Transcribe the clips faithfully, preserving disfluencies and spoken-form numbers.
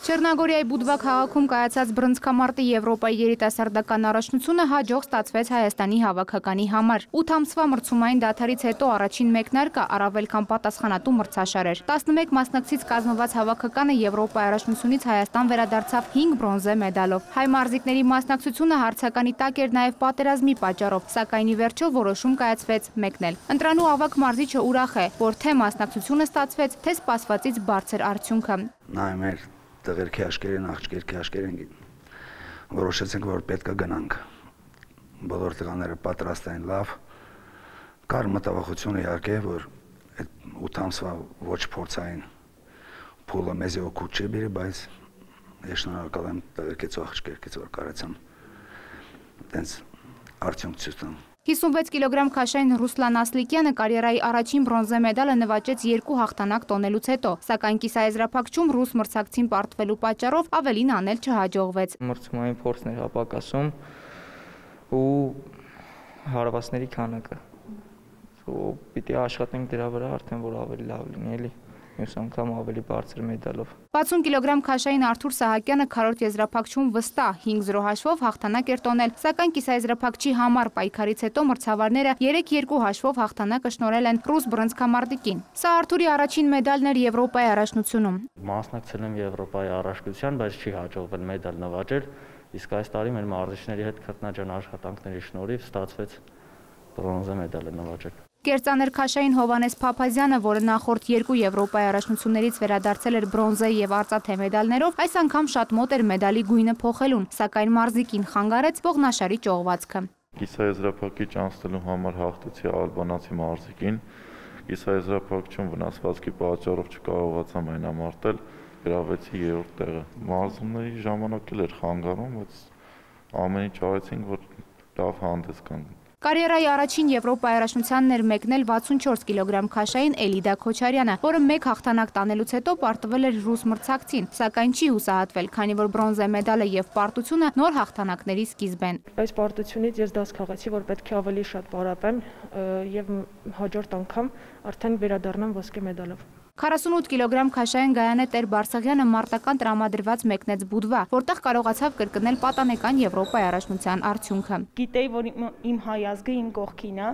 Չեռնագորիայի Բուդվա քաղաքում կայացած բռնցքամարտի Եվրոպայի երիտասարդական առաջնությունը հաջող ստացվեց Հայաստանի հավաքականի համար։ ութ ամսվա մրցումային դադարից հետո առաջին մեկնարկը առավել քան պատասխանատու մրցաշար էր։ տասնմեկ մասնակցից կազմված հավաքականը Եվրոպայի առաջնությունից Հայաստան վերադարձավ հինգ բրոնզե մեդալով։ Հայ մարզիկների մասնակցությունը հարցականի տակ էր նաև պատերազմի պատճառով, սակայն ի վերջո որոշում կայացվեց մեկնել։ Ընտրանու ավագ մարզիչը ուրախ է, որ թե մասնակցությունը ստացվեց, թե սպասվածից բարձր արդյունքը։ Տղերքի աշկերին, աղջիկերքի աշկերին որոշեցինք, որ պետք է գնանք։ Բոլոր տղաները պատրաստ էին լավ։ Կար մտավախություն իհարկե, որ այդ ութ ամսվա ոչ փորձային փուլը մեզ օգուտ չի բերի, բայց ես շնորհակալ եմ տղերքից ու աղջիկերքից, որ կարեցան այդպես արդյունք ցույց տան։ հիսունվեց կիլոգրամ քաշային Ռուսլան Ասլիկյանը կարիերայի առաջին բրոնզե մեդալը նվաճեց երկու հաղթանակ տոնելուց հետո, սակայն կիսաեզրափակչում ռուս մրցակցին պարտվելու պատճառով ավելին անել չհաջողվեց։ Մրցումային փորձն էր ապակասում ու հարվածների քանակը։ Ու պիտի աշխատենք դրա վրա, արդեն որ ավելի լավ լինի, էլի։ Մյուս անգամ ավելի բարձր մեդալով։ վաթսուն կիլոգրամ քաշային Արթուր Սահակյանը քառորդ եզրափակչում վստահ հինգ զրո հաշվով հաղթանակ էր տոնել, սակայն կիսաեզրափակչի համար պայքարից հետո մրցավարները երեք երկու հաշվով հաղթանակը շնորհել են ռուս բռնցքամարտիկին։ Սա Արթուրի առաջին մեդալն էր Եվրոպայի առաջնությունում։ Մասնակցել եմ Եվրոպայի առաջնության, բայց չի հաջողվել մեդալ նվաճել, իսկ այս տարի մեր մարզիչների հետ քրտնաջան աշխատանքների շնորհիվ ստացվեց բրոնզե մեդալը նվաճել։ Կերծաներքաշային Հովանես Փափազյանը, որը նախորդ երկու Եվրոպայի առաջնություններից վերադարձել էր բրոնզե եւ արծաթե մեդալներով, այս անգամ շատ մոտ էր մեդալի գույնը փոխելուն, սակայն մարզիկին խանգարեց ողնաշարի ճողվածքը։ Կիսաեզրափակիչ անցնելու համար հաղթեցի ալբանացի մարզիկին, կիսաեզրափակչում վնասվածքի պատճառով չկարողացա մայնամարտել, գրավեցի երրորդ տեղը։ Մարզումների ժամանակ էլ էր խանգարում, բայց ամեն ինչ արեցինք, որ լավ հանդես գանք։ Կարիերայի առաջին Եվրոպայի առաջնությանն էր մեկնել վաթսուն չորս կիլոգրամ քաշային Էլիդա Քոչարյանը, որը մեկ հաղթանակ տանելուց հետո պարտվել էր ռուս մրցակցին, սակայն չի հուսահատվել, քանի որ բրոնզե մեդալը եւ պարտությունը նոր հաղթանակների սկիզբ են։ Այս պարտությունից ես դաս քաղեցի, որ պետք է ավելի շատ պարապեմ եւ հաջորդ անգամ արդեն վերադառնամ ոսկե մեդալով։ քառասունութ կիլոգրամ քաշային Գայանե Տեր-Բարսեղյանը մարտական տրամադրված մեկնեց Բուդվա, որտեղ կարողացավ կրկնել պատանեկան Եվրոպայի առաջնության արդյունքը։ Գիտեի, որ իմ հայ ազգը իմ կողքին է,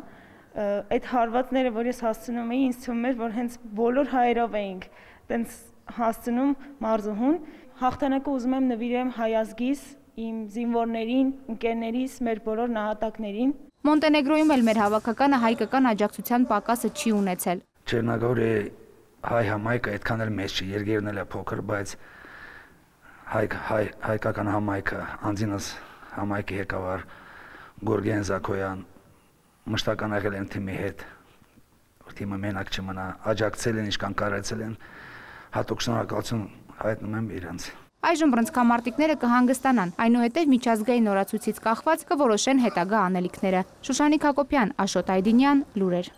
այդ հարվածները, որ ես հասցնում էի, ինձ թվում էր, որ հենց բոլոր հայերով էինք, տենց հասցնում մարզուհուն։ Հաղթանակը ուզում եմ նվիրեմ հայ ազգիս, իմ զինվորներին, ընկերներիս, մեր բոլոր նահատակներին։ Մոնտենեգրոյում էլ մեր հավաքականը հայկական աջակցության պակասը չի ունեցել։ Չեռնագորիայի հայ համայնքը այդքան էլ մեծ չի, երկերն էլ է փոքր, բայց հայ հայ հայկական համայնքը, անձինս համայնքի ղեկավար Գորգեն Զաքոյան մշտական եղել են թիմի հետ, որ թիմը մենակ չմնա, աջակցել են, ինչքան կարեցել են, հատուկ շնորհակալություն հայտնում եմ իրենց։ Այժմ բռնցքամարտիկները կհանգստանան, այնուհետև միջազգային օրացույցից կախված կորոշեն հետագա անելիքները։ Շուշանիկ Հակոբյան, Աշոտ Այդինյան, լուրեր։